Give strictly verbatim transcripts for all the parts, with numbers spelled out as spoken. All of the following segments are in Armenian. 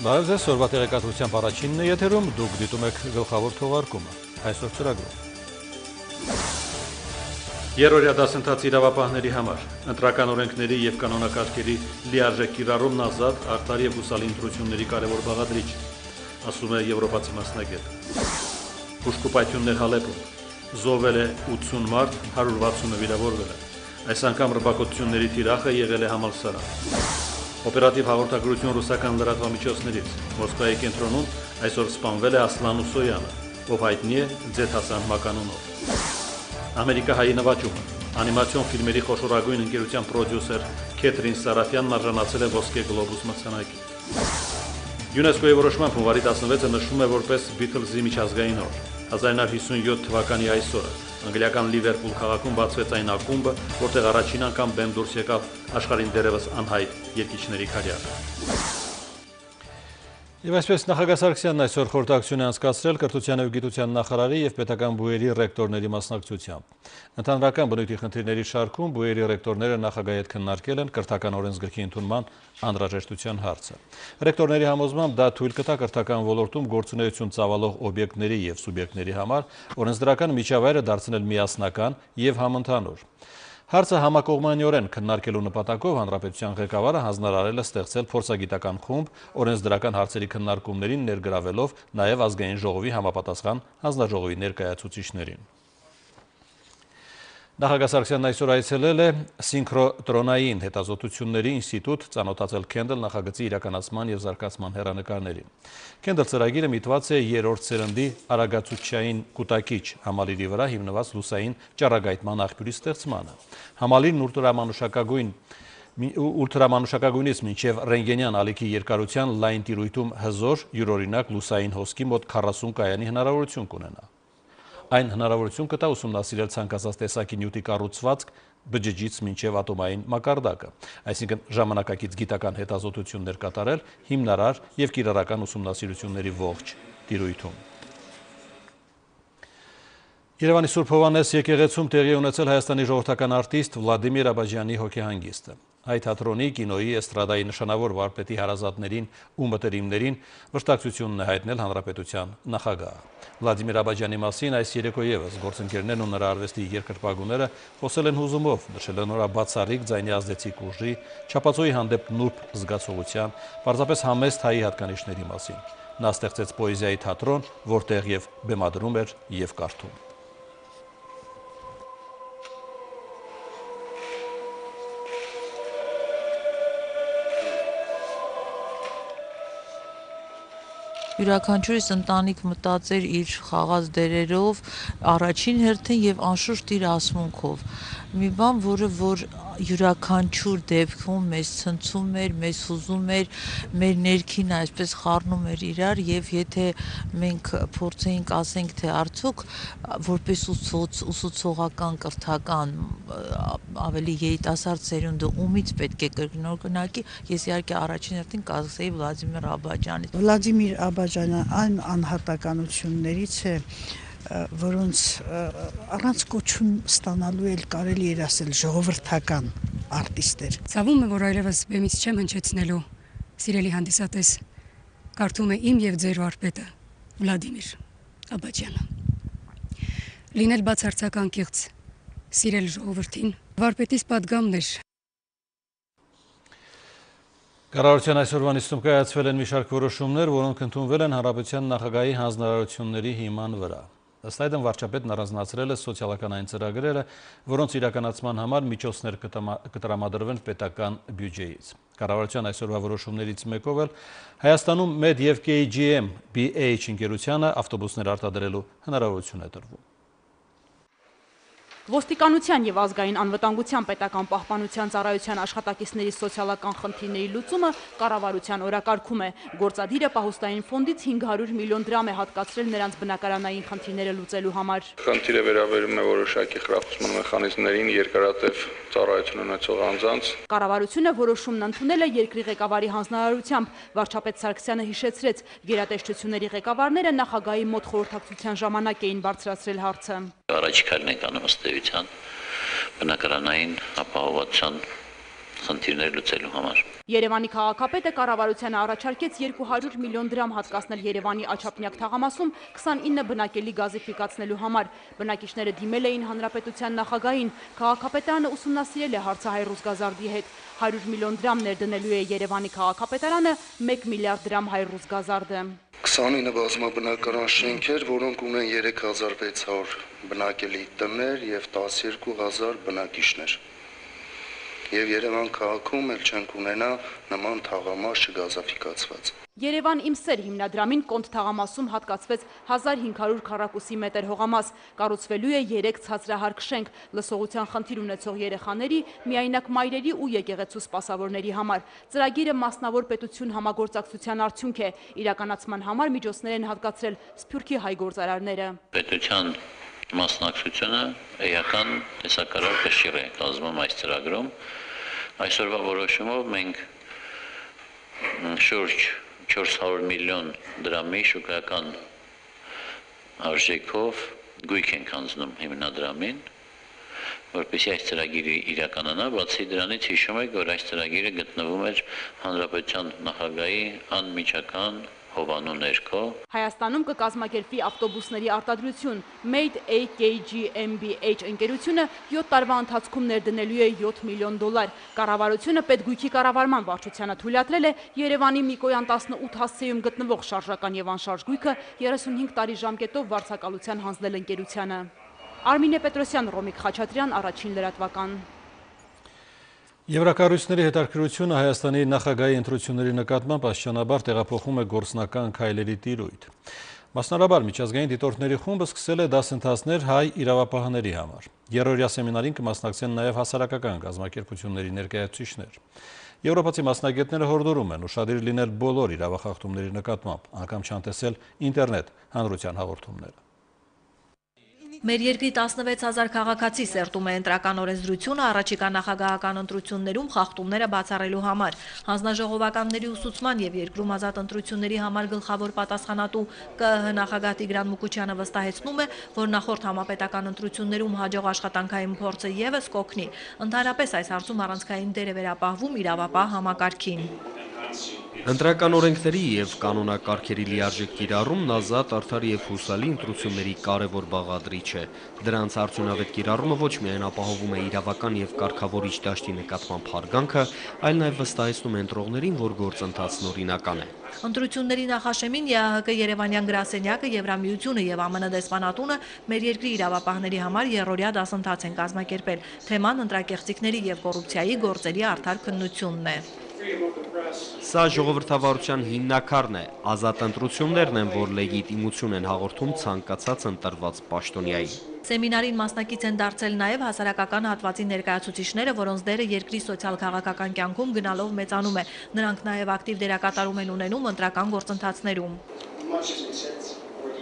Բարև ձեզ, օրվա տեղեկատվությամբ առաջինն է եթերում, դուք դիտում եք գլխավոր թողարկումը, այսօր ծրագրում։ Երրորդ դասընթացի իրավապահների համար ընտրական օրենքների եւ կանոնակարգերի լիարժեք կիրառումն ազատ, արդար եւ հուսալի ընտրությունների կարևոր բաղադրիչ, ասում է եվրոպացի մասնագետ։ Բուժկոպայթյուններ Հալեպում զոհվել է ութսուն մարդ, հարյուր վաթսունը վիրավորվել է։ Այս անգամ ռմբակոծությունների թիրախը եղել է համալսարան։ Օպերատիվ հաղորդագրություն ռուսական լրատվամիջոցներից Մոսկվայի կենտրոնում այսօր սպանվել է Ասլան Ուսոյանը, ով հայտնի է Ձեթ Հասան մականունով։ Ամերիկահայի նվաճումը անիմացիոն ֆիլմերի խոշորագույն ընկերության պրոդյուսեր Քեթրին Սարաֆյանն արժանացել է ոսկե գլոբուս մրցանակի։ ՅՈՒՆԵՍԿՕ-ի որոշմամբ հունվարի տասնվեցը նշվում է որպես Բիթլզի միջազգային օր։ հազար նույնսուն հիսունյոթ թվականի այսօրը անգլիական Լիվերպուլ քաղաքում բացվեց այն ակումբը, որտեղ առաջին անգամ բեմ դուրս եկավ աշխարհին դեռևս անհայտ երկիչների քարյակը։ Եվ այսպես նախագահ Սարգսյանն այսօր խորհրդակցություն է անցկացրել կրթության և գիտության նախարարի և պետական բուհերի ռեկտորների մասնակցությամբ։ Ընդհանրական բնույթի խնդիրների շարքում բուհերի ռեկտորները նախագահի հետ քննարկել են կրթական օրենսգրքի ընդունման անհրաժեշտության հարցը։ Ռեկտորների համոզմամբ դա թույլ կտա կրթական ոլորտում գործունեություն ծավալող օբյեկտների և սուբյեկտների համար օրենսդրական միջավայրը դարձնել միասնական և համընդհանուր։ Հարցը համակողմանիորեն քննարկելու նպատակով հանրապետության ղեկավարը հանձնարարել է ստեղծել փորձագիտական խումբ օրենսդրական հարցերի քննարկումներին ներգրավելով նաև ազգային ժողովի համապատասխան հանձնաժողովի ներկայացուցիչներին։ Նախագահ Սարգսյանն այսօր այցելել է Սինքրոտրոնային հետազոտությունների ինստիտուտ ծանոթացել Քենդլ նախագծի իրականացման և զարգացման հեռանկարներին։ Քենդլ ծրագիրը միտված է երրորդ սերնդի արագացուցչային կուտակիչ համալիրի վրա հիմնված լուսային ճառագայթման աղբյուրի ստեղծմանը։ Համալիրն ուլտրամանուշակագույն Ուլտրամանուշակագույնից մինչև ռենտգենյան ալիքի երկարության լայն տիրույթում հզոր յուրօրինակ լուսային հոսքի մոտ քառասուն կայանի հնարավորություն կունենա։ Այն հնարավորություն կտա ուսումնասիրել ցանկացած տեսակի նյութի կառուցվածք բջջից մինչև ատոմային մակարդակը, այսինքն ժամանակակից գիտական հետազոտություններ կատարել հիմնարար և կիրառական ուսումնասիրությունների ողջ տիրույթում։ Երևանի Սուրբ Հովհաննես եկեղեցում տեղի ունեցել Հայաստանի ժողովրդական արտիստ Վլադիմիր Աբաջյանի հոգեհանգիստը։ Հայ թատրոնի, կինոյի, էստրադայի նշանավոր վարպետի հարազատներին ու մտերիմներին վշտակցությունն է հայտնել հանրապետության նախագահը։ Վլադիմիր Աբաջյանի մասին այս երեկո ևս գործընկերներն ու նրա արվեստի երկրպագուները խոսել են հուզումով, նշել են նրա բացառիկ ձայնի ազդեցիկ ուժի, չափածոյի հանդեպ նուրբ զգացողության, պարզապես համեստ հայի հատկանիշների մասին։ Նա ստեղծեց պոեզիայի թատրոն, որտեղ և բեմադրում էր և կարդում։ Յուրաքանչյուրիս ընտանիք մտածեր իր խաղած դերերով, առաջին հերթին և անշուշտ իր ասմունքով։ Մի բան, որը որ յուրաքանչյուր դեպքում մեզ ցնցում էր, մեզ հուզում էր, մեր ներքին այսպես խառնում էր իրար, և եթե մենք փորձեինք ասենք, թե արդյոք որպես ուսուցողական կրթական ավելի երիտասարդ սերունդը ումից պետք է կրկնօրինակի, ես իհարկե առաջին հերթին կասեի Վլադիմիր Աբաջյանից։ Վլադիմիր Աբաջյանը այն անհատականություններից է, որոնց առանց կոչում ստանալու էլ կարելի էր ասել ժողովրդական արտիստեր։ Ցավում է, որ այլևս բեմից չեմ հնչեցնելու, սիրելի հանդիսատես, կարդում է իմ և ձեր վարպետը Վլադիմիր Աբաջյանը։ Լինել բացարձական կեղծ, սիրել ժողովրդին, վարպետիս պատգամն էր։ Կառավարության այսօրվա նիստում կայացվել են մի շարք որոշումներ, որոնք ընդունվել են հանրապետության նախագահի հանձնարարությունների հիման վրա։ Ըստ այդմ վարչապետն առանձնացրել է սոցիալական այն ծրագրերը, որոնց իրականացման համար միջոցներ կտրամադրվեն պետական բյուջեից։ Կառավարության այսօրվա որոշումներից մեկով էլ Հայաստանում Med և K G M B H ընկերությանը ավտոբուսներ արտադրելու հնարավորություն է տրվում։ Ոստիկանության և ազգային անվտանգության պետական պահպանության ծառայության աշխատակիցների սոցիալական խնդիրների լուծումը կառավարության օրակարգում է։ Գործադիրը պահոստային ֆոնդից հինգ հարյուր միլիոն դրամ է հատկացրել նրանց բնակարանային խնդիրները լուծելու համար։ Խնդիրը վերաբերում է որոշակի խրախուսման մեխանիզմներին երկարատև ծառայություն ունեցող անձանց։ Կառավարությունը որոշումն ընդունել է երկրի ղեկավարի հանձնարարությամբ։ Վարչապետ Սարգսյանը հիշեցրեց, գերատեսչությունների ղեկավարները նախագահի մոտ խորհրդակցության ժամանակ էին բարձրացրել հարցը։ Առաջիկայինն ենք անում ըստ էության բնակարանային ապահովության խնդիրներ լուծելու համար։ Երևանի քաղաքապետը կառավարությանը առաջարկեց երկու հարյուր միլիոն դրամ հատկացնել Երևանի Աչափնյակ թաղամասում քսանինը բնակելի գազիֆիկացնելու համար։ Բնակիչները դիմել էին հանրապետության նախագահին։ Քաղաքապետարանը ուսումնասիրել է հարցը Հայրուսգազարդի հետ։ հարյուր միլիոն դրամ ներդնելու է Երևանի քաղաքապետարանը, մեկ միլիարդ դրամ Հայրուսգազարդը։ քսանինը բազմաբնակարան շենքեր, որոնք ունեն երեք հազար վեց հարյուր բնակելի տներ եւ տասներկու հազար բնակիչներ։ Եվ Երևան քաղաքում էլ չենք ունենա նման թաղամաս չգազաֆիկացված։ Երևան իմ սեր հիմնադրամին Կոնդ թաղամասում հատկացվեց հազար հինգ հարյուր քառակուսի մետր հողամաս, կառուցվելու է երեք ցածրահարկ շենք, լսողության խնդիր ունեցող երեխաների, միայնակ մայրերի ու եկեղեցու սպասավորների համար։ Ծրագիրը մասնավոր պետություն համագործակցության արդյունք է, իրականացման համար միջոցներ են հատկացրել Սփյուռքի հայ գործարարները։ Պետության մասնակցությունը էական տեսակարար կշիռ է կազմում այս ծրագրում։ Այսօրվա որոշումով մենք շուրջ չորս հարյուր միլիոն դրամի շուկայական արժեքով գույք ենք հանձնում հիմնադրամին, որպեսզի այս ծրագիրը իրականանա, բացի դրանից հիշում եք, որ այս ծրագիրը գտնվում էր հանրապետության նախագահի անմիջական հովանու ներքո։ Հայաստանում կկազմակերպվի ավտոբուսների արտադրություն։ Made A K G M B H ընկերությունը յոթ տարվա ընթացքում ներդնելու է յոթ միլիոն դոլար։ Կառավարությունը պետգույքի կառավարման վարչությանը թույլատրել է Երևանի Միկոյան տասնութ հասցեում գտնվող շարժական եւ անշարժ գույքը երեսունհինգ տարի ժամկետով վարձակալության հանձնել ընկերությանը։ Արմինե Պետրոսյան, Ռոմիկ Խաչատրյան, Առաջին լրատվական։ Եվրակառույցների հետաքրքրությունը Հայաստանի նախագահի ընտրությունների նկատմամբ աստիճանաբար տեղափոխում է գործնական քայլերի տիրույթ։ Մասնարաբար միջազգային դիտորդների խումբը սկսել է դասընթացներ հայ իրավապահների համար։ Երրորդյա սեմինարին կմասնակցեն նաև հասարակական կազմակերպությունների ներկայացուցիչներ։ Եվրոպացի մասնագետները հորդորում են ուշադիր լինել բոլոր իրավախախտումների նկատմամբ, անգամ չանտեսել ինտերնետ հանրության հաղորդումները։ Մեր երկրի տասնվեց հազար քաղաքացի սերտում է ընտրական օրենսդրությունը առաջիկա նախագահական ընտրություններում խախտումները բացառելու համար։ Հանձնաժողովականների ուսուցման եւ երկրում ազատ ընտրությունների համար գլխավոր պատասխանատու Կ Ը Հ նախագահ Տիգրան Մուկուչյանը վստահեցնում է, որ նախորդ համապետական ընտրություններում հաջող աշխատանքային փորձը եւս կօգնի։ Ընդհանրապես այս հարցում առանցքային դեր է վերապահվում իրավապահ համակարգին։ Ընտրական օրենքների եւ կանոնակարգերի լիարժեք կիրառումն ազատ, արդար եւ հուսալի ընտրությունների կարևոր բաղադրիչ է։ Դրանց արդյունավետ կիրառումը ոչ միայն ապահովում է իրավական եւ կարգավորիչ դաշտի նկատմամբ հարգանքը, այլ նաեւ վստահեցնում է ընտրողներին, որ գործընթացն օրինական է։ Ընտրությունների նախաշեմին Ե Ա Հ Կ Երևանյան գրասենյակը, Եվրամիությունը եւ Ամն դեսպանատունը մեր երկրի իրավապահների համար երրորդյա դասընթաց են կազմակերպել։ Թեման ընտրակեղծիքների եւ կոռուպցիայի գործերի արդար քննությունն է։ Սա ժողովրդավարության հիմնաքարն է, ազատ ընտրություններն են, որ լեգիտիմություն են հաղորդում ցանկացած ընտրված պաշտոնյայի։ Սեմինարին մասնակից են դարձել նաև հասարակական հատվածի ներկայացուցիչները, որոնց դերը երկրի սոցիալ-քաղաքական կյանքում գնալով մեծանում է։ Նրանք նաև ակտիվ դերակատարում են ունենում ընտրական գործընթացներում։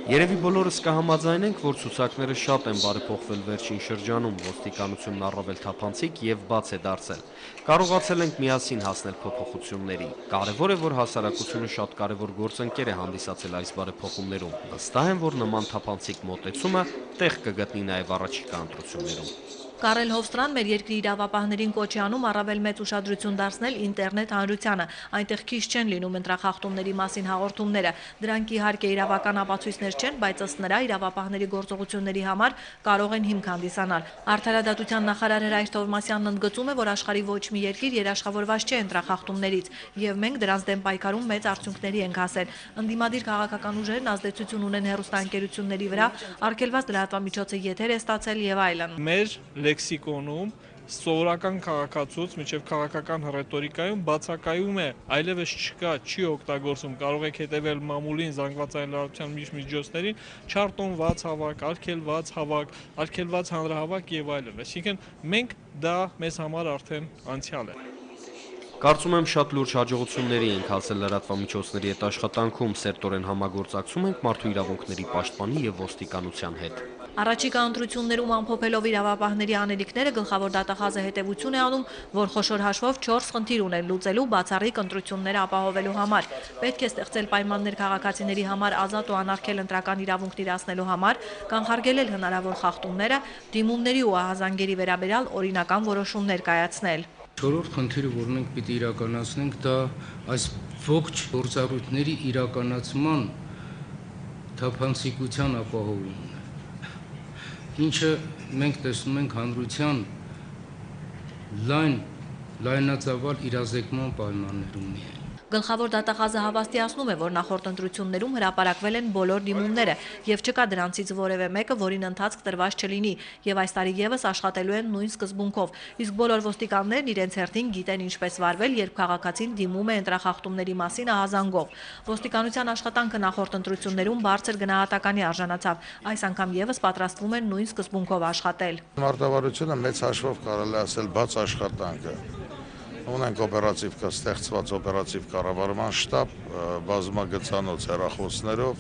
Երևի բոլորս կհամաձայնենք, որ ցուցակները շատ են բարեփոխվել վերջին շրջանում, ոստիկանությունն առավել թափանցիկ եւ բաց է դարձել։ Կարողացել ենք միասին հասնել փոփոխությունների։ Կարևոր է, որ հասարակությունը շատ կարևոր գործընկեր է հանդիսացել այս բարեփոխումներում։ Վստահ եմ, որ նման թափանցիկ մոտեցումը տեղ կգտնի նաեւ առաջիկա ընտրություններում։ Կարել Հովստրան մեր երկրի իրավապահներին կոչ է անում առավել մեծ ուշադրություն դարձնել ինտերնետ հանրությանը։ Այնտեղ քիչ չեն լինում ընտրախախտումների մասին հաղորդումները։ Դրանք իհարկե իրավական ապացույցներ չեն, բայց ըստ նրա իրավապահների գործողությունների համար կարող են հիմք հանդիսանալ։ Արդարադատության նախարար Հրայր Թովմասյանն ընդգծում է, որ աշխարհի ոչ մի երկիր երաշխավորված չէ ընտրախախտումներից, եւ մենք դրանց դեմ պայքարում մեծ արդյունքների ենք հասել։ Ընդդիմադիր քաղաքական ուժերն ազդեցություն ունեն հեռուստաընկերությունների վրա, արգելված լրատվամիջոցը եթեր է ստացել եւ այլն։ Մեր լեքսիկոնում սովորական քաղաքացուց մինչև քաղաքական ռետորիկայում բացակայում է, այլևս չկա, չի օգտագործում, կարող եք հետևել մամուլին, զանգվածային լրատվության միջոցներին, չարտոնված հավաք, արգելված հավաք, արգելված հանրահավաք եւ այլն։ Այսինքն մենք դա մեզ համար արդեն անցյալ է։ Կարծում եմ շատ լուրջ հաջողությունների ենք հասել լրատվամիջոցների հետ աշխատանքում, սերտորեն համագործակցում ենք մարդու իրավունքների պաշտպանի եւ ոստիկանության հետ։ Առաջիկա ընտրություններում ամփոփելով իրավապահների անելիքները գլխավոր դատախազը հետևություն է անում, որ խոշոր հաշվով չորս խնդիր ունեն լուծելու բացառիկ ընտրությունները ապահովելու համար։ Պետք է ստեղծել պայմաններ քաղաքացիների համար ազատ ու անարգել ընտրական իրավունքն իրացնելու համար, կանխարգելել հնարավոր խախտումները, դիմումների ու ահազանգերի վերաբերյալ օրինական որոշումներ կայացնել։ Չորրորդ խնդիրը, որ մենք պիտի իրականացնենք, դա այս ողջ գործառույթների իրականացման թափանցիկության ապահովումն է, ինչը մենք տեսնում ենք հանրության լայն, լայնածավալ իրազեկման պայմաններում միայն։ Գլխավոր դատախազը հավաստիացնում է, որ նախորդ ընտրություններում հրապարակվել են բոլոր դիմումները եւ չկա դրանցից որևէ մեկը, որին ընթացք տրված չլինի եւ այս տարի եւս աշխատելու են նույն սկզբունքով։ Իսկ բոլոր ոստիկաններն իրենց հերթին գիտեն ինչպես վարվել, երբ քաղաքացին դիմում է ընտրախախտումների մասին ահազանգով։ Ոստիկանության աշխատանքը նախորդ ընտրություններում բարձր գնահատականի արժանացավ։ Այս անգամ եւս պատրաստվում են նույն սկզբունքով աշխատել։ Մարտավարությունը մեծ հաշվով կարելի ասել բաց աշխատանք է։ Ունենք օպերատիվ ստեղծված օպերատիվ կառավարման շտաբ, բազմագծանոց հեռախոսներով,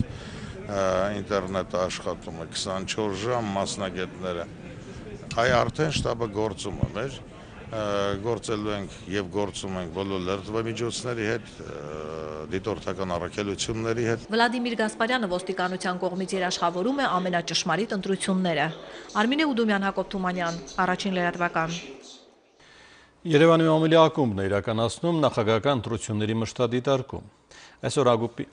ինտերնետը աշխատում է քսանչորս ժամ, մասնագետները։ Այ արդեն շտաբը գործում է մեր, գործելու ենք եւ գործում ենք բոլոր լրատվամիջոցների հետ, դիտորդական առաքելությունների հետ։ Վլադիմիր Գասպարյանը ոստիկանության կողմից երաշխավորում է ամենաճշմարիտ ընտրությունները։ Արմինե Ուդումյան, Հակոբ Թումանյան, Առաջին լրատվական։ Երևանի մամուլի ակումբն է իրականացնում նախագահական ընտրությունների մշտադիտարկում։ Այսօր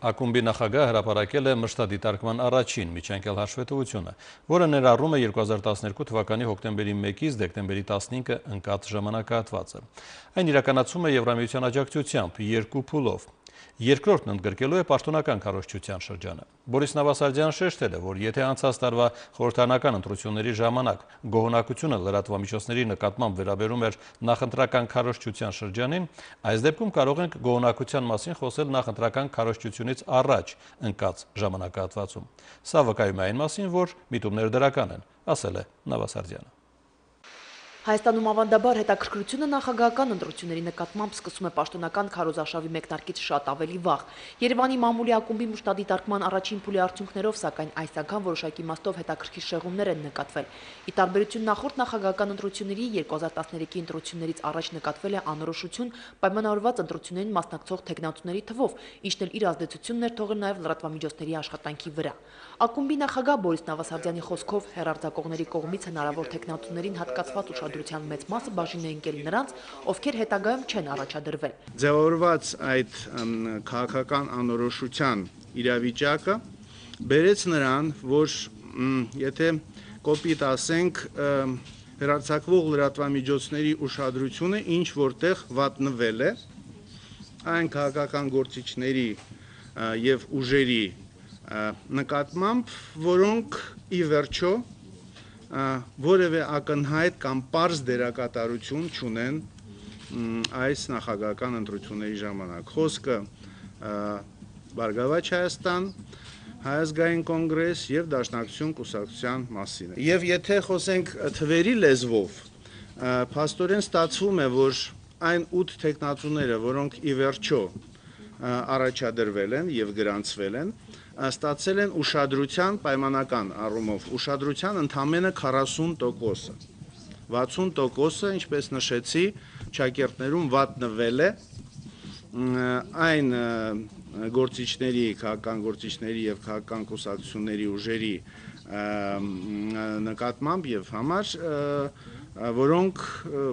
ակումբի նախագահը հրապարակել է մշտադիտարկման առաջին միջանկյալ հաշվետվությունը, որը ներառում է երկու հազար տասներկու թվականի հոկտեմբերի մեկից դեկտեմբերի տասնինը ընկած ժամանակահատվածը։ Այն իրականացում է Եվրամիության աջակցությամբ երկու փուլով։ Երկրորդն ընդգրկելու է պաշտոնական քարոզչության շրջանը։ Բորիս Նավասարդյանը շեշտել է, որ եթե անցած տարվա խորհրդարանական ընտրությունների ժամանակ գոհունակությունը լրատվամիջոցների նկատմամբ վերաբերում էր նախընտրական քարոզչության շրջանին, այս դեպքում կարող ենք գոհունակության մասին խոսել նախընտրական քարոզչությունից առաջ ընկած ժամանակահատվածում։ Սա վկայում է այն մասին, որ միտումները դրական են, ասել է Նավասարդյանը։ Հայաստանում ավանդաբար հետաքրքրությունը նախագահական ընտրությունների նկատմամբ սկսում է պաշտոնական քարոզարշավի մեկնարկից շատ ավելի վաղ։ Երևանի մամուլի ակումբի մշտադիտարկման առաջին փուլի արդյունքներով, սակայն այս անգամ որոշակի իմաստով հետաքրքիր շեղումներ են նկատվել։ Ի տարբերություն նախորդ նախագահական ընտրությունների երկու հազար տասներեքի ընտրություններից առաջ նկատվել է անորոշություն պայմանավորված ընտրություններին մասնակցող թեկնածուների թվով, ինչն էլ իր ազդեցությունն էր թողել նաև լրատվամիջոցների աշխատանքի վրա։ Ակումբի նախագահ Բորիս Նավասարդյանի խոսքով հեռարձակողների կողմից հնարավոր թեկնածուներին հատկացված ուշադրության մեծ մասը բաժին է ընկել նրանց, ովքեր հետագայում չեն առաջադրվել։ Ձևավորված այդ քաղաքական անորոշության իրավիճակը բերեց նրան, որ եթե կոպիտ ասենք, հեռարձակվող լրատվամիջոցների ուշադրությունը ինչ որտեղ վատնվել է այն քաղաքական գործիչների եւ ուժերի նկատմամբ, որոնք ի վերջո որևէ ակնհայտ կամ պարզ դերակատարություն չունեն այս նախագահական ընտրությունների ժամանակ։ Խոսքը Բարգավաճ Հայաստան, Հայ ազգային կոնգրես եւ Դաշնակցություն կուսակցության մասին է։ Եվ եթե խոսենք թվերի լեզվով, փաստորեն ստացվում է, որ այն ութ թեկնածուները, որոնք ի վերջո առաջադրվել են եւ գրանցվել են, ստացել են ուշադրության պայմանական առումով, ուշադրության ընդամենը քառասուն տոկոսը։ վաթսուն տոկոսը, ինչպես նշեցի, ճակերտներում վատնվել է այն գործիչների, քաղաքական գործիչների եւ քաղաքական կուսակցությունների ուժերի նկատմամբ եւ համար, որոնք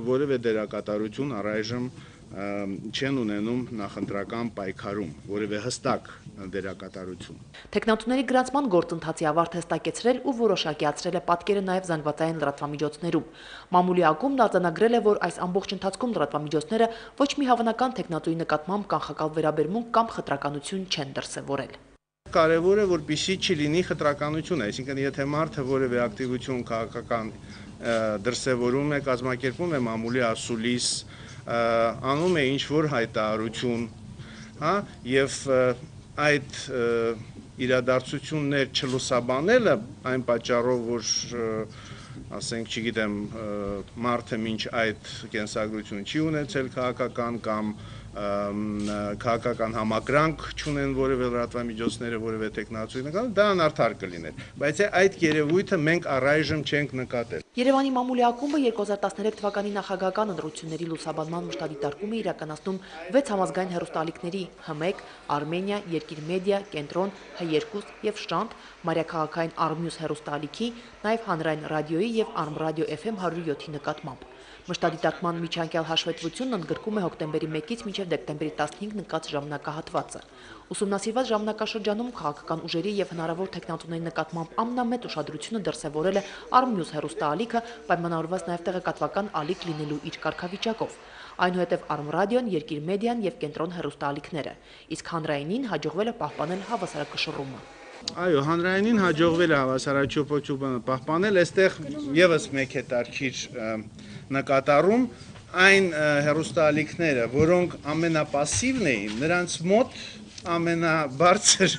որևէ դերակատարություն առայժմ չեն ունենում նախընտրական պայքարում, որևէ հստակ դերակատարություն։ Թեկնածուների գրանցման գործընթացի ավարտ հստակեցրել ու որոշակիացրել է պատկերը նաև զանգվածային լրատվամիջոցներում։ Մամուլի ակումբն արձանագրել է, որ այս ամբողջ ընթացքում լրատվամիջոցները ոչ մի հավանական թեկնածուի նկատմամբ կանխակալ վերաբերմունք կամ խտրականություն չեն դրսևորել։ Կարևոր է, որպեսզի չլինի խտրականություն, այսինքն եթե մարդը որևէ ակտիվություն քաղաքական դրսևորում է, կազմակերպում է մամուլի ասուլիս, անում է ինչ-որ հայտարարություն, հա, եւ այդ իրադարձություններ չլուսաբանելը այն պատճառով, որ ասենք, չգիտեմ, մարդը մինչ այդ կենսագրություն չի ունեցել քաղաքական կամ քաղաքական համակրանք չունեն որևէ լրատվամիջոցները, որևէ տեխնացուի նկատմամբ, դա անարդար կլիներ, բայց այդ երևույթը մենք առայժմ չենք նկատել։ Երևանի մամուլի ակումբը երկու հազար տասներեք թվականի նախագահական ընտրությունների լուսաբանման մշտադիտարկում է իրականացնում վեց համազգային հեռուստաալիքների Հ մեկ, Արմենիա, Երկիր մեդիա, Կենտրոն, Հ երկու եւ Շանթ, Մարիաքաղաքային Արմյուս հեռուստաալիքի, նաեւ հանրային ռադիոյի եւ Արմրադիո Էֆ Էմ հարյուր յոթի նկատմամբ։ Մշտադիտարկման միջանկյալ հաշվետվությունն ընդգրկում է հոկտեմբերի մեկից մինչև դեկտեմբերի տասնհինգ նկատի ժամանակահատվածը։ Ուսումնասիրված ժամանակաշրջանում քաղաքական ուժերի եւ հնարավոր թեկնածուների նկատմամբ ամենամեծ ուշադրությունը դրսեւորել է Արմնյուզ հեռուստաալիքը, պայմանավորված նաեւ տեղեկատվական ալիք լինելու իր կարգավիճակով։ Այնուհետև Արմրադիոն, Երկիր մեդիան եւ Կենտրոն հեռուստաալիքները, իսկ հանրայինին հաջողվել է պահպանել հավասարակշռումը։ Այո, հանրայինին հաջողվել է հավասարաչափությունը պահպանել, այստեղ եւս մեկ հետարքիր նկատառում այն հեռուստաալիքները, որոնք ամենապասիվն էին, նրանց մոտ ամենաբարձր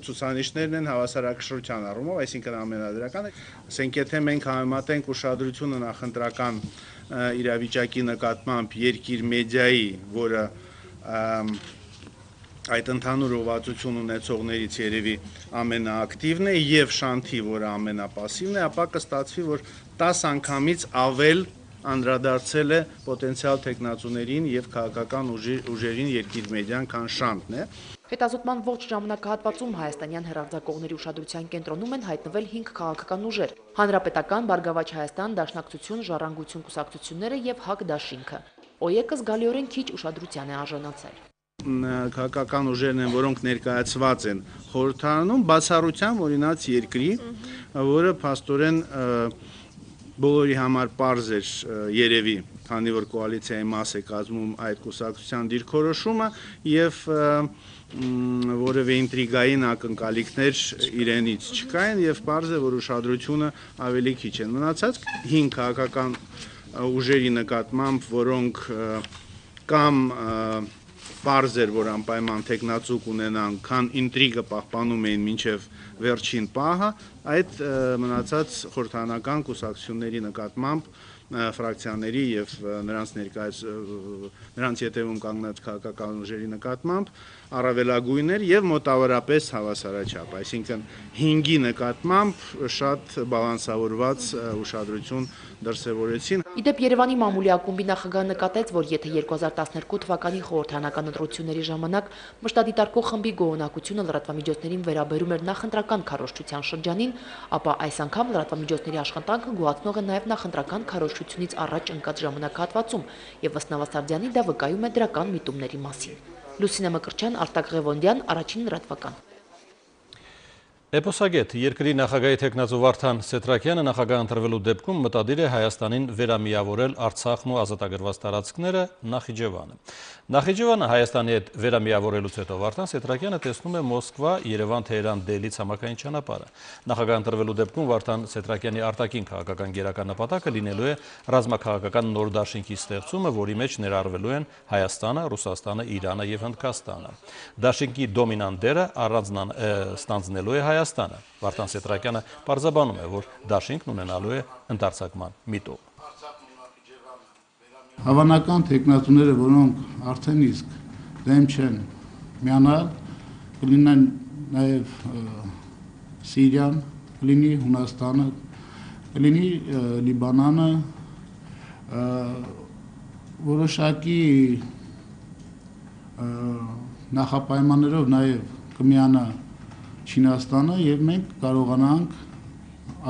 ցուցանիշներն են հավասարակշռության առումով, այսինքն ամենադրականը, ասենք եթե մենք համեմատենք ուշադրությունը նախընտրական իրավիճակի նկատմամբ Երկիր մեդիայի, որը այդ ընդհանուր ուղղվածություն ունեցողներից երևի ամենաակտիվն է, եւ Շանթի, որը ամենապասիվն է, ապա կստացվի, որ տաս անգամից ավել անդրադարձել է պոտենցիալ թեկնածուներին եւ քաղաքական ուժերին Երկիր մեդիան, քան Շանթն է։ Հետազոտման ողջ ժամանակահատվածում հայաստանյան հեռարձակողների ուշադրության կենտրոնում են հայտնվել հինգ քաղաքական ուժեր՝ Հանրապետական, Բարգավաճ Հայաստան, Դաշնակցություն, Ժառանգություն կուսակցությունները եւ ՀԱԿ դաշինքը։ ՕԵԿ-ը զգալիորեն քիչ ուշադրության է արժանացել։ Քաղաքական ուժերն են, որոնք ներկայացված են խորհրդարանում, բացառությամբ օրինաց Երկրի, որը փաստորեն բոլորի համար պարզ էր երևի, քանի որ կոալիցիայի մաս է կազմում այդ կուսակցության դիրքորոշումը եւ որևէ ինտրիգային ակնկալիքներ իրենից չկային եւ պարզ է, որ ուշադրությունը ավելի քիչ է։ Մնացած հինգ քաղաքական ուժերի նկատմամբ, որոնք կամ պարզ էր, որ անպայման թեկնածու կունենան, քան ինտրիգը պահպանում էին մինչև վերջին պահը, այդ մնացած խորհրդարանական կուսակցությունների նկատմամբ ֆրակցիաների եւ նրանց ներկայաց նրանց ետևում կանգնած քաղաքական ուժերի նկատմամբ առավելագույններ եւ մոտավորապես հավասարաչափ, այսինքն հինգի նկատմամբ շատ բալանսավորված ուշադրություն դրսևորեցին։ Իդեպ Երևանի մամուլի ակումբի նախագահը նկատեց, որ եթե երկու հազար տասներկու թվականի խորհրդարանական ընտրությունների ժամանակ մշտադիտարկող խմբի գոհունակությունը լրատվամիջոցներին վերաբերում էր նախընտրական քարոզչության շրջանին, ապա այս անգամ լրատվամիջոցների աշխատանքը գոհացնող է նաեւ նախընտրական քարոզչությունից առաջ ընկած ժամանակահատվածում, եւ ըստ Նավասարդյանի դա վկայում է դրական միտումների մասին։ Լուսինե Մկրտչյան, Արտակ Ղևոնդյան, Առաջին լրատվական։ Էպոսագետ Երկրի նախագահի թեկնածու Վարդան Սեթրակյանը նախագահ ընտրվելու դեպքում մտադիր է Հայաստանին վերամիավորել Արցախն ու ազատագրված տարածքները Նախիջևանը։ Նախիջևանը Հայաստանի հետ վերամիավորելուց հետո Վարդան Սեթրակյանը տեսնում է Մոսկվա, Երևան, Թեհրան, Դելհի ցամաքային ճանապարհը։ Նախագահ ընտրվելու դեպքում Վարդան Սեթրակյանի արտաքին քաղաքական գերական նպատակը լինելու է ռազմաքաղաքական նոր դաշինքի ստեղծումը, որի մեջ ներառվելու են Հայաստանը, Ռուսաստանը, Իրանը եւ Հնդկաստանը։ Դաշինքի դոմինանտ դերը առանձնանալու է Հայաստանը։ Վարդան Սեթրակյանը պարզաբանում է, որ դաշինքն ունենալու է ընդարձակման միտում։ Հավանական թեկնածուները, որոնք արդեն իսկ դեմ չեն միանալ, կլինեն նաև Սիրիան, կլինի Հունաստանը, կլինի Լիբանանը, որոշակի նախապայմաններով նաև կմիանա Չինաստանը եւ մենք կարողանանք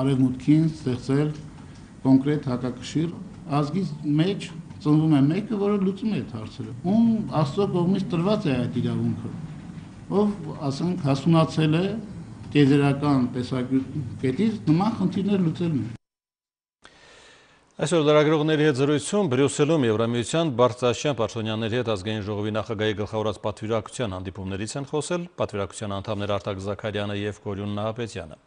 արևմուտքին ստեղծել կոնկրետ հակակշիռ ազգի մեջ ծնվում է մեկը, որը լուծում է այդ հարցերը։ Ում Աստծո կողմից տրված է այդ իրավունքը, ով, ասենք, հասունացել է տիեզերական տեսակետից նման խնդիրներ լուծելն է։ Այսօր լրագրողների հետ զրույցում Բրյուսելում Եվրամիության բարձրաստիճան պաշտոնյաների հետ ազգային ժողովի նախագահի գլխավորած պատվիրակության հանդիպումներից են խոսել պատվիրակության անդամներ Արտակ Զաքարյանը եւ Կորյուն Նահապետյանը։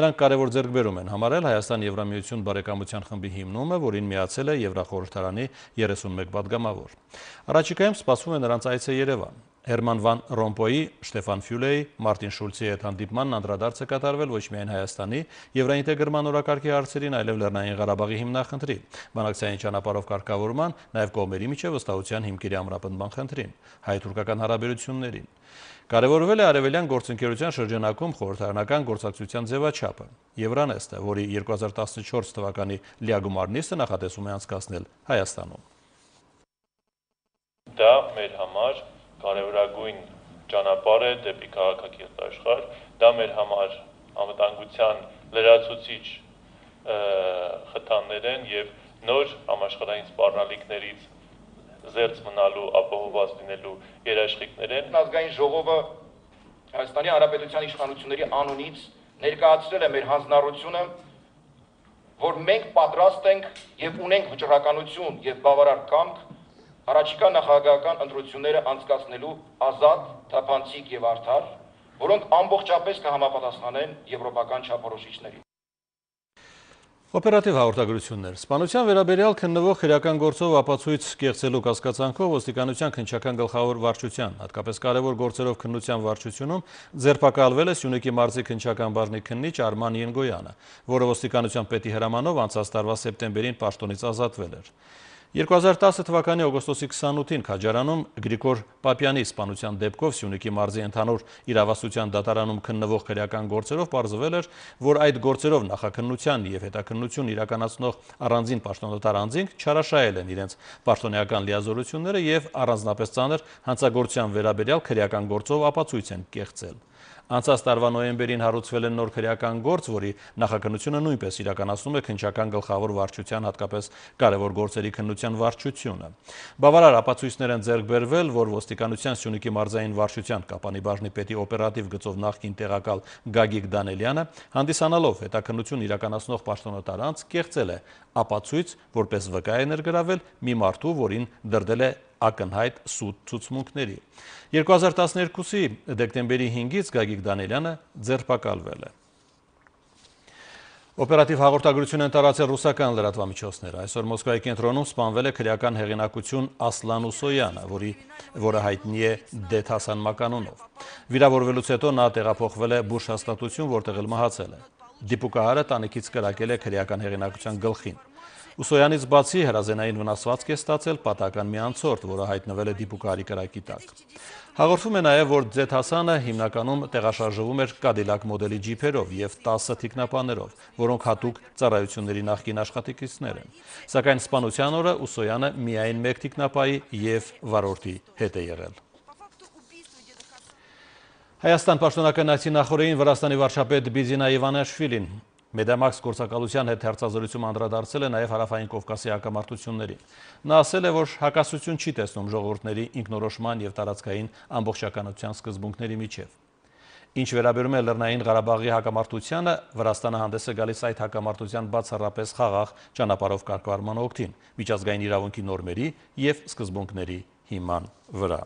Նրանք կարևոր ձեռքբերում են համարել Հայաստան-Եվրամիություն բարեկամության խմբի հիմնումը, որին միացել է Եվրախորհրդարանի երեսունմեկ պատգամավոր։ Առաջիկայում սպասվում է նրանց այցը Երևան։ Հերման Վան Ռոմպոյի, Շտեֆան Ֆյուլեի, Մարտին Շուլցի հետ հանդիպմանն անդրադարձ է կատարվել ոչ միայն Հայաստանի եվրաինտեգրման օրակարգի հարցերին, այլև Լեռնային Ղարաբաղի հիմնախնդրի, բանակցային ճանապարհով կարգավորման, նաև կողմերի միջև վստահության հիմքերի ամրապնդման խնդրին, հայ-թուրքական հարաբերություններին։ Կարևորվել է արևելյան գործընկերության շրջանակում խորհրդարանական գործակցության ձևաչափը։ Եվրանեստը, որի երկու հազար տասնչորս թվականի լիագումար նիստը նախատեսում է անցկացնել Հայաստանում։ Դա մեր համար կարևորագույն ճանապարհ է դեպի քաղաքակիրթ աշխարհ, դա մեր համար անվտանգության լրացուցիչ խթաններ են եւ նոր համաշխարհային սպառնալիքներից զերծ մնալու, ապահովված լինելու երաշխիքներ են։ Ազգային ժողովը Հայաստանի Հանրապետության իշխանությունների անունից ներկայացրել է մեր հանձնառությունը, որ մենք պատրաստ ենք եւ ունենք վճռականություն եւ բավարար կամք առաջիկա նախագահական ընտրությունները անցկացնելու ազատ, թափանցիկ եւ արդար, որոնք ամբողջապես կհամապատասխանեն եվրոպական չափորոշիչներին։ Օպերատիվ հաղորդագրություններ։ Սպանության վերաբերյալ քննվող քրեական գործով ապացույց կեղծելու կասկածանքով ոստիկանության քննչական գլխավոր վարչության, հատկապես կարևոր գործերով քննության վարչությունում ձերբակալվել է Սյունիքի մարզի քննչական բաժնի քննիչ Արման Ենգոյանը, որը ոստիկանության պետի հրամանով անցած տարվա սեպտեմբերին պաշտոնից ազատվել էր։ երկու հազար տասը թվականի օգոստոսի քսանութին Քաջարանում Գրիգոր Պապյանի սպանության դեպքով Սյունիքի մարզի ընդհանուր իրավասության դատարանում քննվող քրեական գործերով պարզվել էր, որ այդ գործերով նախաքննության եւ հետաքննություն իրականացնող առանձին պաշտոնատար անձինք չարաշահել են իրենց պաշտոնեական լիազորությունները եւ առանձնապես ծանր հանցագործության վերաբերյալ քրեական գործով ապացույց են կեղծել։ Անցած տարվա նոյեմբերին հարուցվել է նոր քրեական գործ, որի նախաքննությունը նույնպես իրականացնում է քննչական գլխավոր վարչության, հատկապես կարևոր գործերի քննության վարչությունը։ Բավարար ապացույցներ են ձեռք բերվել, որ ոստիկանության Սյունիքի մարզային վարչության Կապանի բաժնի պետի օպերատիվ գծով նախկին տեղակալ Գագիկ Դանելյանը, հանդիսանալով հետաքննություն իրականացնող պաշտոնատար անձ, կեղծել է ապացույց, որպես վկա է ներգրավել մի մարդու, որին դրդել է ակնհայտ սուտ ցուցմունքների։ երկու հազար տասներկուսի դեկտեմբերի հինգից Գագիկ Դանելյանը ձերբակալվել է։ Օպերատիվ հաղորդագրություն են տարածել ռուսական լրատվամիջոցները։ Այսօր Մոսկվայի կենտրոնում սպանվել է քրեական հեղինակություն Ասլան Ուսոյանը, որի որը հայտնի է Դեթասան մականունով։ Վիրավորվելուց հետո նա տեղափոխվել է բուժ հաստատություն, որտեղ էլ մահացել է։ Դիպուկահարը տանիքից կրակել է քրեական հեղինակության գլխին։ Ուսոյանից բացի հրազենային վնասվածք է ստացել պատահական մի անցորդ, որը հայտնվել է դիպուկահարի կրակի տակ։ Հաղորդվում է նաև, որ Դեթասանը հիմնականում տեղաշարժվում էր Կադիլակ մոդելի ջիփերով եւ տասը թիկնապաներով, որոնք հատուկ ծառայությունների նախկին աշխատակիցներ են։ Սակայն սպանության օրը Ուսոյանը միայն մեկ թիկնապայի եւ վարորդի հետ է եղել։ Հայաստան պաշտոնական այցի նախօրեին Վրաստանի վարչապետ Բիզինա Իվանաշվիլին Մեդամաքս գործակալության հետ հերձազրույցում անդրադարձել է նաև Հարավային Կովկասի հակամարտություններին։ Նա ասել է, որ հակասություն չի տեսնում ժողովուրդների ինքնորոշման եւ տարածքային ամբողջականության սկզբունքների միջև։ Ինչ վերաբերում է Լեռնային Ղարաբաղի հակամարտությանը, Վրաստանը հանդես է գալիս այդ հակամարտության բացառապես խաղաղ ճանապարհով կարգավորման օգտին, միջազգային իրավունքի նորմերի եւ սկզբունքների հիման վրա։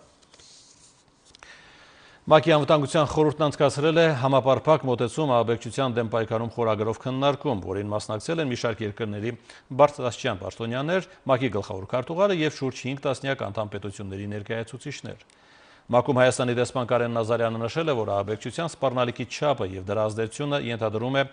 ՄԱԿ-ի անվտանգության խորհուրդն անցկացրել է համապարփակ մոտեցում ահաբեկչության դեմ պայքարում խորագրով քննարկում, որին մասնակցել են մի շարք երկրների բարձրաստիճան պաշտոնյաներ, ՄԱԿ-ի գլխավոր քարտուղարը եւ շուրջ հինգ տասնյակ անդամ պետությունների ներկայացուցիչներ։ ՄԱԿ-ում Հայաստանի դեսպան Կարեն Նազարյանը նշել է, որ ահաբեկչության սպառնալիքի չափը եւ դրա ազդեցությունը ենթադրում է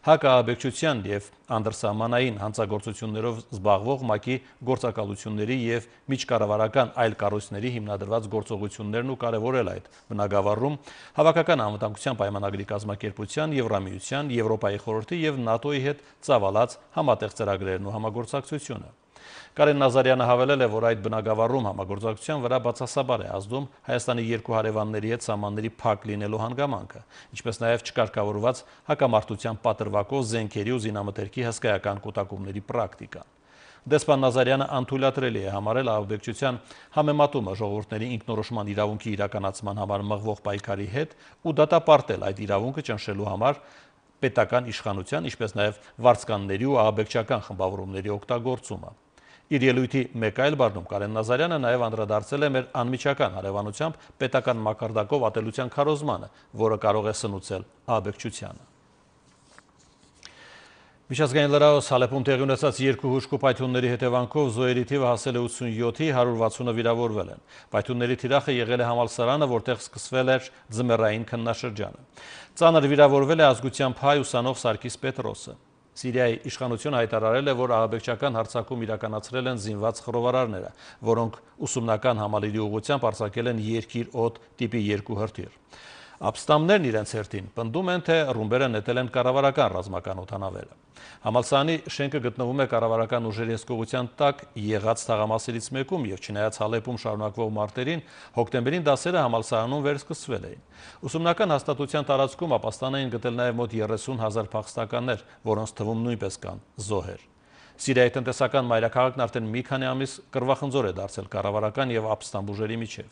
հակահաբեկչության եւ անդրսահմանային հանցագործություններով զբաղվող ՄԱԿ-ի գործակալությունների եւ միջկառավարական այլ կառույցների հիմնադրված գործողություններն ու կարևորել այդ բնագավառում հավաքական անվտանգության պայմանագրի կազմակերպության, Եվրամիության, Եվրոպայի խորհրդի եւ ՆԱՏՕ-ի հետ ծավալած համատեղ ծրագրերն ու համագործակցությունը։ Կարեն Նազարյանը հավելել է, որ այդ բնագավառում համագործակցության վրա բացասաբար է ազդում Հայաստանի երկու հարևանների հետ սահմանների փակ լինելու հանգամանքը, ինչպես նաև չկարգավորված հակամարտության պատրվակով զենքերի ու զինամթերքի հսկայական կուտակումների պրակտիկան։ Դեսպան Նազարյանը անթույլատրելի է համարել ահաբեկչության համեմատումը ժողովուրդների ինքնորոշման իրավունքի իրականացման համար մղվող պայքարի հետ ու դատապարտել այդ իրավունքը ճնշելու համար պետական իշխանության, ինչպես նաև վարձկանների ու ահաբեկչական խմբավորումների օգտագործումը։ Իր ելույթի մեկ այլ բառնում Կարեն Նազարյանը նաև անդրադարձել է մեր անմիջական հարևանությամբ պետական մակարդակով ատելության քարոզմանը, որը կարող է սնուցել ահաբեկչությանը։ Միջազգային լրահոս Հալեպում տեղի ունեցած երկու հուժկու պայթյունների հետևանքով զոհերի թիվը հասել է ութսունյոթի, հարյուր վաթսունը վիրավորվել են։ Պայթյունների թիրախը եղել է համալսարանը, որտեղ սկսվել էր ձմեռային քննաշրջանը։ Ծանր վիրավորվել է ազգությամբ հայ ուսանող Սարգիս Պետրոսը։ Սիրիայի իշխանությունը հայտարարել է, որ ահաբեկչական հարձակում իրականացրել են զինված խռովարարները, որոնք ուսումնական համալիրի ուղղությամբ արձակել են երկիր օդ տիպի երկու հրթիռ։ Ապստամբներն իրենց հերթին պնդում են, թե ռումբերը նետել են կառավարական ռազմական օդանավերը։ Համալսարանի շենքը գտնվում է կառավարական ուժերի հսկողության տակ եղած թաղամասերից մեկում եւ չնայած Հալեպում շարունակվող մարտերին, հոկտեմբերին դասերը համալսարանում վերսկսվել էին։ Ուսումնական հաստատության տարածքում ապաստան էին գտել նաեւ մոտ երեսուն հազար փախստականներ, որոնց թվում նույնպես կան զոհեր։ Սիրիայի տնտեսական մայրաքաղաքն արդեն մի քանի ամիս կռվախնձոր է դարձել կառավարական եւ ապստամբ ուժերի միջև։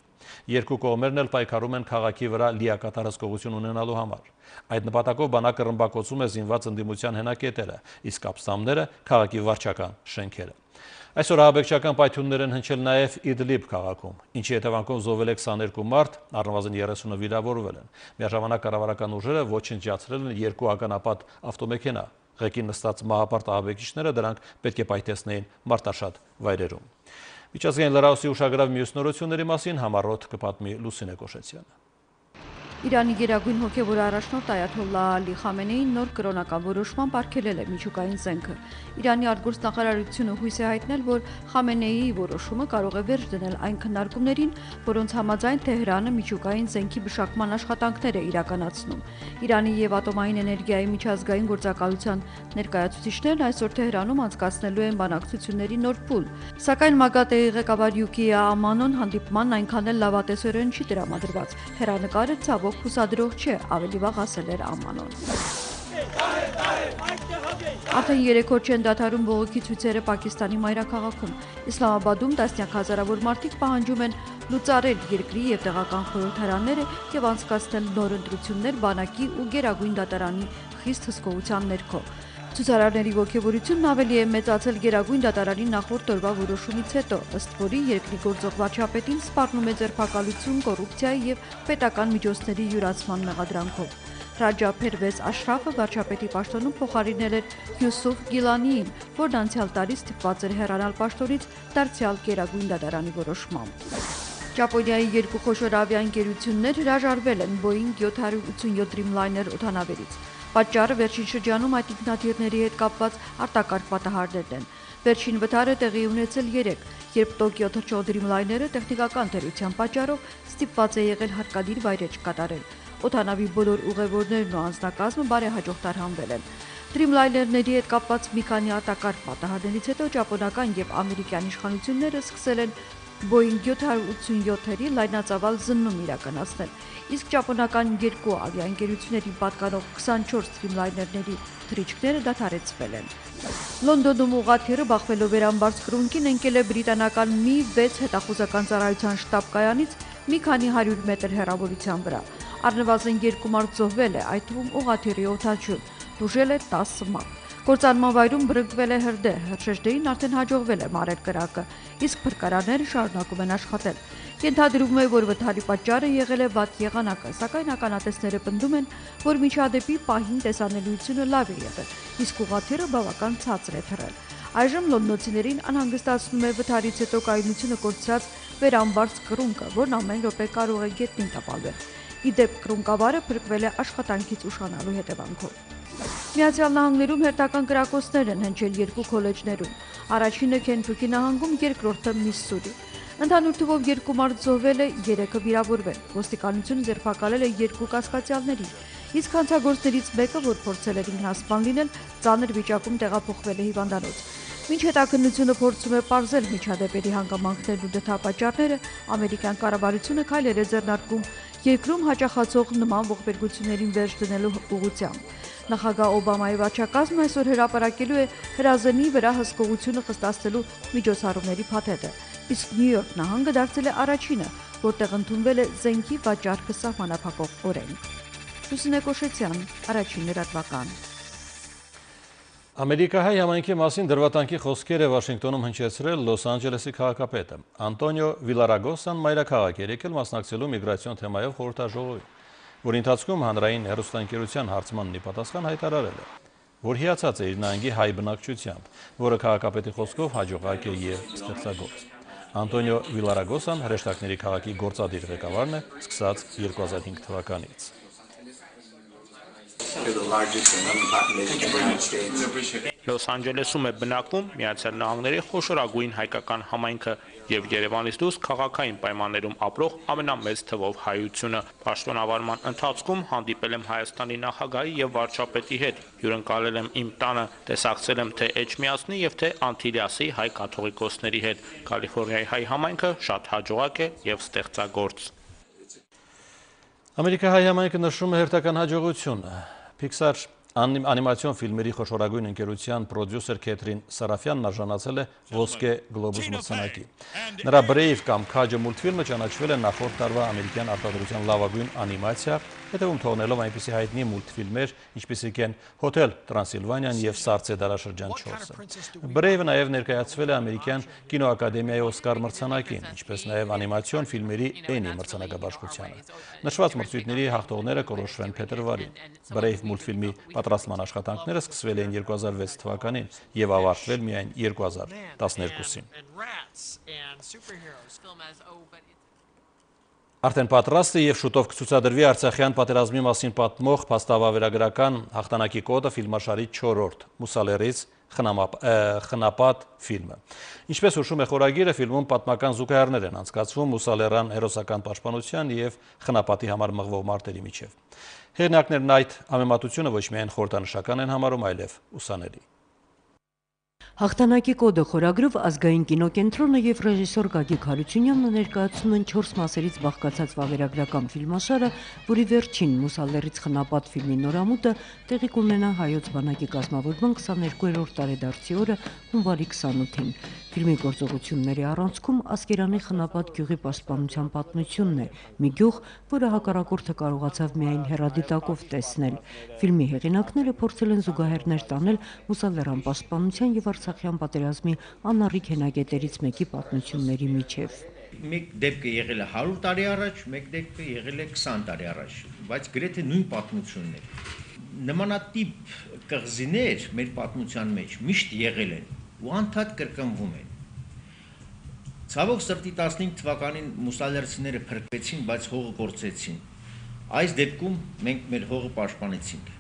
Երկու կողմերն էլ պայքարում են քաղաքի վրա լիակատար հսկողություն ունենալու համար։ Այդ նպատակով բանակը ռմբակոծում է զինված ընդդիմության հենակետերը, իսկ ապստամբները քաղաքի վարչական շենքերը։ Այսօր ահաբեկչական պայթյուններ են հնչել նաև Իդլիբ քաղաքում, ինչի հետևանքով զոհվել է քսաներկու մարդ, առնվազն երեսունը վիրավորվել են։ Միաժամանակ կառավարական ուժերը ոչնչացրել են երկու ականապատ ավտոմեքենա։ Ղեկին նստած մահապարտ ահաբեկիչները դրանք պետք է պայթեցնեին մարտաշատ վայրերում։ Միջազգային լրահոսի ուշագրավ մյուս նորությունների մասին համառոտ կպատմի Լուսինե Կոշեցյանը։ Իրանի գերագույն հոգևոր առաջնորդ Այաթոլլահ Ալի Խամենեին նոր կրոնական որոշմամբ արգելել է միջուկային զենքը։ Իրանի արտգործնախարարությունը հույս է հայտնել, որ Խամենեիի որոշումը կարող է վերջ դնել այն քննարկումներին, որոնց համաձայն Թեհրանը միջուկային զենքի մշակման աշխատանքներ է իրականացնում։ Իրանի եւ ատոմային էներգիայի միջազգային գործակալության ներկայացուցիչներն այսօր Թեհրանում անցկացնելու են բանակցությունների նոր փուլ։ Սակայն ՄԱԳԱՏԷ-ի ղեկավար Յուկիա Ամանոն հանդիպմանն այնքան էլ լավատեսորեն չի տրամադրված։ Հեռանկարը ցավոք հուսադրող չէ, ավելի վաղ ասել էր Ամանոն։ Արդեն երեք օր չեն դադարում բողոքի ցույցերը Պակիստանի մայրաքաղաքում։ Իսլամաբադում տասնյակ հազարավոր մարդիկ պահանջում են լուծարել երկրի եւ տեղական խորհրդարանները եւ անցկացնել նոր ընտրություններ բանակի ու գերագույն դատարանի խիստ հսկողության ներքո։ Ցուցարարների ողջավորությունն ավելի է մեծացել գերագույն դատարանի նախորդ օրվա որոշումից հետո, ըստ որի երկրի գործող վարչապետին սպառնում է ձերբակալություն, կոռուպցիայի եւ պետական միջոցների յուրացման մեղադրանքով։ Ռաջա Փերվեզ Աշրաֆը վարչապետի պաշտոնում փոխարինել էր Յուսուֆ Գիլանիին, որն անցյալ տարի ստիպված էր հեռանալ պաշտոնից դարձյալ գերագույն դատարանի որոշմամբ։ Ճապոնիայի երկու խոշոր ավիաընկերություններ հրաժարվել են Boeing յոթ հարյուր ութսունյոթ Dreamliner օդանավերից։ Պատճառը վերջին շրջանում այդ ինքնաթիռների հետ կապված արտակարգ պատահարներն են։ Վերջին վթարը տեղի ունեցել երեկ, երբ Տոկիո թռչող Dreamliner-ը տեխնիկական թերության պատճառով ստիպված է եղել հարկադիր վայրեջք կատարել։ Օդանավի բոլոր ուղևորներն ու անձնակազմը բարեհաջող տարհանվել են։ Dreamliner-ների հետ կապված մի քանի արտակարգ պատահարներից հետո ճապոնական եւ ամերիկյան իշխանությունները սկսել են Boeing յոթ հարյուր ութսունյոթ-երի լայնածավալ զննում իրականացնել, իսկ ճապոնական երկու ավիաընկերությունների պատկանող քսանչորս Dreamliner-ների թռիչքները դադարեցվել են։ Լոնդոնում ուղղաթիռը բախվելով վերամբարձ կրունկին ընկել է բրիտանական մի վեց հետախուզական ծառայության շտաբ կայանից մի քանի հարյուր մետր հեռավորության վրա։ Առնվազն երկու մարդ զոհվել է, այդ թվում ուղղաթիռի օդաչուն, տուժել է տասը մարդ։ Գործանման վայրում բռնկվել է հրդեհ, հրշեջներին արդեն հաջողվել է մարել կրակը, իսկ փրկարանները շարունակում են աշխատել։ Ենթադրվում է, որ վթարի պատճառը եղել է վատ եղանակը, սակայն ականատեսները պնդում են, որ միջադեպի պահին տեսանելիությունը լավ է եղել, իսկ ուղղաթիռը բավական ցածր է թռել։ Այժմ լոնդոնցիներին անհանգստացնում է վթարից հետո կայունությունը կորցրած վերամբարձ կռունկը, որն ամեն րոպե կարող է գետնին տապալվել։ Ի դեպ, կռունկավարը փրկվել է աշխատանքից ուշանալու հետևանքով։ Միացյալ Նահանգներում հերթական կրակոցներ են հնչել երկու քոլեջներում։ Առաջինը Քենթուքի նահանգում, երկրորդը Միսսուրի։ Ընդհանուր թվով երկու մարդ զոհվել է, երեքը վիրավորվել։ Ոստիկանությունը ձերբակալել է երկու կասկածյալների, իսկ հանցագործներից մեկը, որ փորձել էր ինքնասպան լինել, ծանր վիճակում տեղափոխվել է հիվանդանոց։ Մինչ հետաքննությունը փորձում է պարզել միջադեպերի հանգամանքներն ու դրդապատճառները, ամերիկյան կառավարությունը քայլեր է ձեռնարկում երկրում հաճախացող նման ողբերգություններին վերջ դնելու ուղղությամբ։ Նախագահ Օբամայի վարչակազմը այսօր հրապարակելու է հրազենի վրա հսկողությունը խստացնելու միջոցառումների փաթեթը, իսկ Նյու Յորք նահանգը դարձել է առաջինը, որտեղ ընդունվել է զենքի վաճառքը սահմանափակող օրենք։ Լուսինե Կոշեցյան, Առաջին լրատվական։ Ամերիկահայ համայնքի մասին դրվատանքի խոսքեր է Վաշինգտոնում հնչեցրել Լոս Անջելեսի քաղաքապետը։ Անտոնիո Վիլարագոսան մայրաքաղաք էր եկել մասնակցելու միգրացիոն թեմայով խորհրդաժողովի, որի ընթացքում հանրային հեռուստաընկերության հարցմանն ի պատասխան հայտարարել է, որ հիացած է իր նահանգի հայ բնակչությամբ, որը քաղաքապետի խոսքով հաջողակ է եւ ստեղծագործ։ Անտոնիո Վիլարագոսան հրեշտակների քաղաքի գործադիր ղեկավարն է սկսած երկու հազար հինգ թվականից։ Լոս Անջելեսում է բնակվում Միացյալ Նահանգների խոշորագույն հայկական համայնքը եւ Երևանից դուրս քաղաքային պայմաններում ապրող ամենամեծ թվով հայությունը։ Պաշտոնավարման ընթացքում հանդիպել եմ Հայաստանի նախագահի եւ վարչապետի հետ, հյուրընկալել եմ իմ տանը, տեսակցել եմ թե Էջմիածնի եւ թե Անտիլիասի հայ կաթողիկոսների հետ։ Կալիֆոռնիայի հայ համայնքը շատ հաջողակ է եւ ստեղծագործ։ Ամերիկահայ համայնքը նշում է հերթական հաջողություն։ Pixar անիմացիոն ֆիլմերի խոշորագույն ընկերության պրոդյուսեր Քեթրին Սարաֆյանն արժանացել է ոսկե գլոբուս մրցանակի։ Նրա Brave կամ Քաջը մուլտֆիլմը ճանաչվել է նախորդ տարվա ամերիկյան արտադրության լավագույն անիմացիա, հետևում թողնելով այնպիսի հայտնի մուլտֆիլմեր, ինչպիսիք են Հոթել Տրանսիլվանիան եւ Սառցե դարաշրջան չորսը։ Brave-ը նաեւ ներկայացվել է ամերիկյան կինոակադեմիայի Օսկար մրցանակին, ինչպես նաեւ անիմացիոն ֆիլմերի Էնի մրցանակաբաշխությանը։ Նշված մրցույթների հաղթողները կորոշվեն փետրվարին։ Brave մուլտֆիլմի պատրաստման աշխատանքները սկսվել էին երկու հազար վեց թվականին եւ ավարտվել միայն երկու հազար տասներկուսին։ Արդեն պատրաստ է եւ շուտով կցուցադրվի Արցախյան պատերազմի մասին պատմող փաստավավերագրական հաղթանակի կոդը ֆիլմաշարի չորրորդ Մուսալերից խնապատ ֆիլմը։ Ինչպես հուշում է խորագիրը, ֆիլմում պատմական զուգահեռներ են անցկացվում Մուսալերան հերոսական պաշտպանության եւ խնապատի համար մղվող մարտերի միջև։ Հեղինակներն այդ համեմատությունը ոչ միայն խորհրդանշական են համարում, այլև ուսանելի։ Հաղթանակի կոդը խորագրով ազգային կինոկենտրոնը եւ ռեժիսոր Գագիկ Հարությունյանն ներկայացնում են չորս մասերից բաղկացած վավերագրական ֆիլմաշարը, որի վերջին Մուսալերից խնապատ ֆիլմի նորամուտը տեղի կունենա հայոց բանակի կազմավորման քսաներկուերորդ տարեդարձի օրը հունվարի քսանութին։ Ֆիլմի գործողությունների առանցքում Ասկերանի խնապատ գյուղի պաշտպանության պատմությունն է, մի գյուղ, որը հակառակորդը կարողացավ միայն հեռադիտակով տեսնել։ Ֆիլմի հեղինակները փորձել են զուգահեռներ տանել Մուսալերան պաշտպանության եւ Արցախյան պատերազմի անառիկ հենակետերից մեկի պատմությունների միջև։ Մեկ դեպքը եղել է հարյուր տարի առաջ, մեկ դեպքը եղել է քսան տարի առաջ, բայց գրեթե նույն պատմությունն է։ Նմանատիպ կղզիներ մեր պատմության մեջ միշտ եղել են ու անդադ կրկնվում են։ Ցավոք սրտի տասնհինգ թվականին մուսալերցիները փրկվեցին, բայց հողը կորցրեցին։ Այս դեպքում մենք մեր հողը պաշտպանեցինք։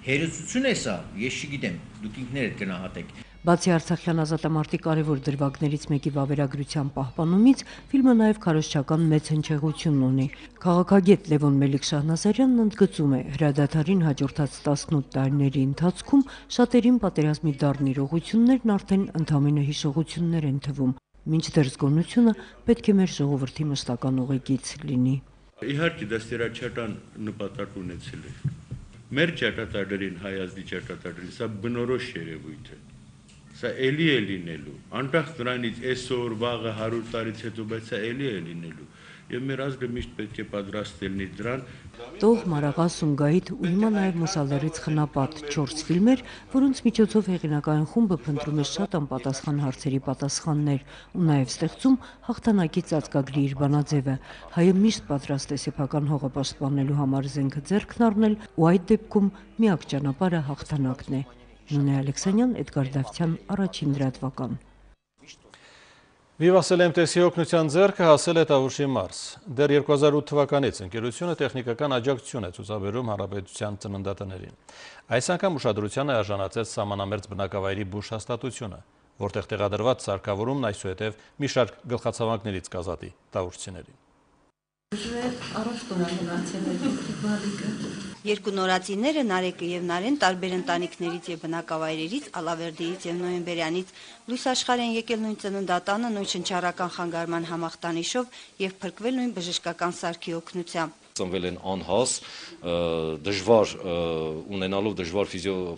Հերոսություն է սա, ես չգիտեմ, դուք ինքներդ գնահատեք։ Բացի Արցախյան ազատամարտի կարևոր դրվագներից մեկի վավերագրության պահպանումից, ֆիլմը նաև քարոզչական մեծ հնչեղություն ունի։ Քաղաքագետ Լևոն Մելիք-Շահնազարյանն ընդգծում է, հրադադարին հաջորդած տասնութ տարիների ընթացքում շատերին պատերազմի դառն իրողություններն արդեն ընդամենը հիշողություններ են թվում, մինչդեռ զգոնությունը պետք է մեր ժողովրդի մշտական ուղեկից լինի։ Իհարկե դա ստերաչական նպատակ ունեցել է։ Մեր ճակատագրին, հայ ազգի ճակատագրին, սա բնորոշ երևույթ է։ Սա էլի է լինելու, անկախ նրանից այսօր վաղը հարյուր տարից հետո, բայց սա էլի է լինելու, եւ մեր ազգը միշտ պետք է պատրաստ լինի դրան։ Տող, Մարաղաս, Սումգայիթ ու հիմա նաև Մուսալերից խնապատ չորս ֆիլմեր, որոնց միջոցով հեղինակային խումբը փնտրում է շատ անպատասխան հարցերի պատասխաններ ու նաև ստեղծում հաղթանակի ծածկագրի իր բանաձևը։ Հայը միշտ պատրաստ է սեփական հողը պաշտպանելու համար զենքը ձեռքն առնել ու այդ դեպքում միակ ճանապարհը հաղթանակն է։ Նունե Ալեքսանյան, Էդգար Դավթյան, Առաջին լրատվական։ Վիվասել էմ տես-ի օգնության ձեռքը հասել է Տավուշի մարզ։ Դեռ երկու հազար ութ թվականից ընկերությունը տեխնիկական աջակցություն է ցուցաբերում հանրապետության ծննդատներին։ Այս անգամ ուշադրության է արժանացել սահմանամերձ բնակավայրի բուժ հաստատությունը, որտեղ տեղադրված սարքավորումն այսուհետև մի շարք գլխացավանքներից կազատի տավուշցիներին։ Երկու նորածինները Նարեկը եւ Նարեն տարբեր ընտանիքներից եւ բնակավայրերից, Ալավերդիից եւ Նոյեմբերյանից լույս աշխարհ են եկել նույն ծննդատանը նույն շնչառական խանգարման համախտանիշով եւ փրկվել նույն բժշկական սարքի օգնությամբ։ Ծնվել են անհաս, դժվար ունենալով դժվար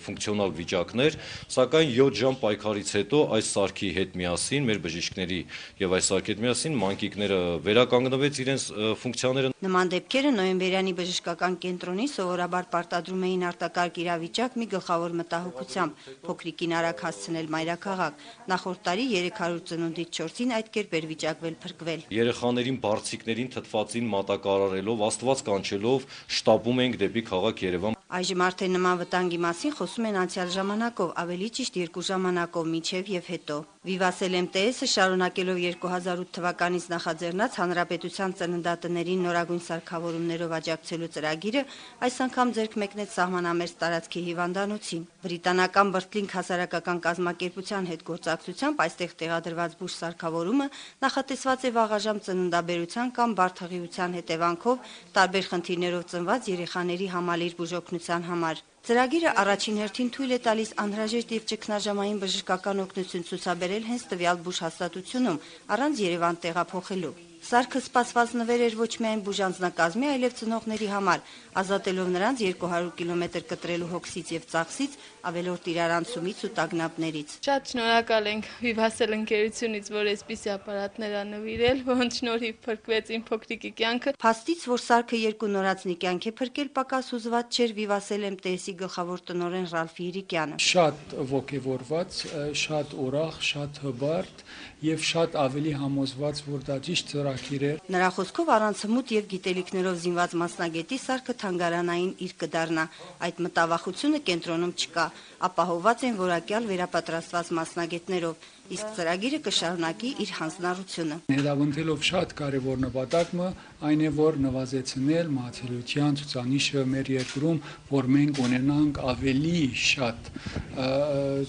ֆունկցիոնալ վիճակներ, սակայն յոթ ժամ պայքարից հետո այս սարքի հետ միասին, մեր բժիշկների եւ այս սարքի հետ միասին մանկիկները վերականգնվեց իրենց ֆունկցիաները։ Նման դեպքերը Նոյեմբերյանի բժշկական կենտրոնի սովորաբար պարտադրում էին արտակարգ իրավիճակ մի գլխավոր մտահոգությամբ՝ փոքրիկին արագ հասցնել մայրաքաղաք։ Նախորդ տարի երեք հարյուր ծնունդից չորսին այդ կերպ էր վիճակվել փրկվել։ Երեխաներին, բարձիկներին թթվածին մատակարարելով, Աստված կանչելով շտապում ենք դեպի քաղաք Երևան։ Այժմ արդեն նման վտանգի մասին խոսում են անցյալ ժամանակով, ավելի ճիշտ երկու ժամանակով, մինչև եւ հետո։ Vivace-l em te es-ը շարունակելով երկու հազար ութ թվականից նախաձեռնած հանրապետության ծննդատներին նորագույն սարքավորումներով աջակցելու ծրագիրը այս անգամ ձեռք մեկնեց սահմանամերձ տարածքի հիվանդանոցին։ Բրիտանական Բրտլինգ հասարակական կազմակերպության հետ գործակցությամբ այստեղ տեղադրված բուժ սարքավորումը նախատեսված է վաղաժամ ծննդաբերության կամ բարդհղիության հետևանքով տարբեր խնդիրներով ծնված երեխաների համալիր բուժօգնության համար։ Ծրագիրը առաջին հերթին թույլ է տալիս անհրաժեշտ եւ ճգնաժամային բժշկական օգնություն ցուցաբերել հենց տվյալ բուժհաստատությունում առանց Երևան տեղափոխելու։ Սարքը սպասված նվեր էր ոչ միայն բուժանձնակազմի, այլև ծնողների համար, ազատելով նրանց երկու հարյուր կիլոմետր կտրելու հոգսից եւ ծախսից, ավելորդ իրարանցումից ու տագնապներից։ Շատ շնորհակալ ենք Vivace-l ընկերությունից, որ այսպիսի ապարատներ ա նվիրել, որոնց շնորհիվ փրկվեց իմ փոքրիկի կյանքը։ Փաստից, որ սարքը երկու նորածնի կյանք է փրկել, պակաս հուզված չէր Vivace-l em te es-ի գլխավոր տնօրեն Ռալֆ Իրիկյանը։ Շատ ողջավորված, շատ ուրախ, շատ հբարտ եւ շատ ավելի համոզված, որ դա ճիշտ ծրագիր է։ Նրա խոսքով առանց հմուտ եւ գիտելիքներով զինված մասնագետի սարքը թանգարանային իր կդառնա։ Այդ մտավախությունը կենտրոնում չկա, ապահովված են որակյալ վերապատրաստված մասնագետներով, իսկ ծրագիրը կշարունակի իր հանձնառությունը։ Հետավնդելով շատ կարևոր նպատակը այն է, որ նվազեցնել մահացելիության ցուցանիշը մեր երկրում, որ մենք ունենանք ավելի շատ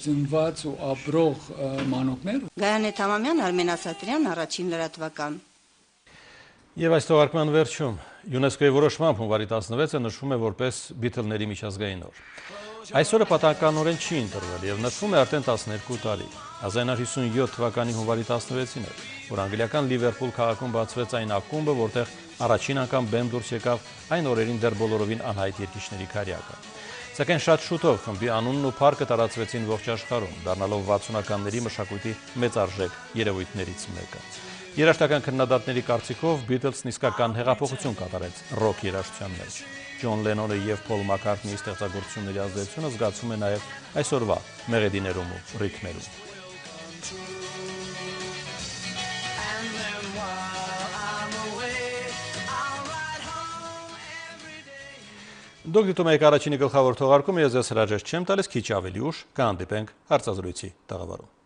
զինված ու ապրող մանուկներ։ Գայանե Թամամյան, Արմեն Ասատրյան, Առաջին լրատվական։ Եվ այս թողարկման վերջում ՅՈՒՆԵՍԿՕ-ի որոշմամբ հունվարի տասնվեցը նշվում է որպես Բիթլների միջազգային օր։ Այսօրը պատահականորեն չի ընտրվել եւ նշվում է արդեն տասներկու տարի։ հազար իննսուն հիսունյոթ թվականի հունվարի տասնվեցին էր, որ անգլիական Լիվերպուլ քաղաքում բացվեց այն ակումբը, որտեղ առաջին անգամ բեմ դուրս եկավ այն օրերին դեռ բոլորովին անհայտ երկիշների քարյակը։ Սակայն շատ շուտով խմբի անունն ու փառքը տարածվեցին ողջ աշխարհում, դառնալով վաթսունականների մշակույթի մեծարժեք երևույթներից մեկը։ Երաժշտական քննադատների կարծիքով Beatles-ն իսկական հեղափոխություն կատարեց ռոք երաժշտության մեջ։ Ջոն Լենոնը եւ Փոլ Մակքարթնիի ստեղծագործությունների ազդեցությունը զգացում է նաեւ այսօրվա մեղեդիներում ու ռիթմերում։ Դուք դիտում եք առաջինի գլխավոր թողարկումը, ես ձեզ հրաժեշտ չեմ տալիս, քիչ ավելի ուշ կհանդիպենք հարցազրույցի տաղավարում։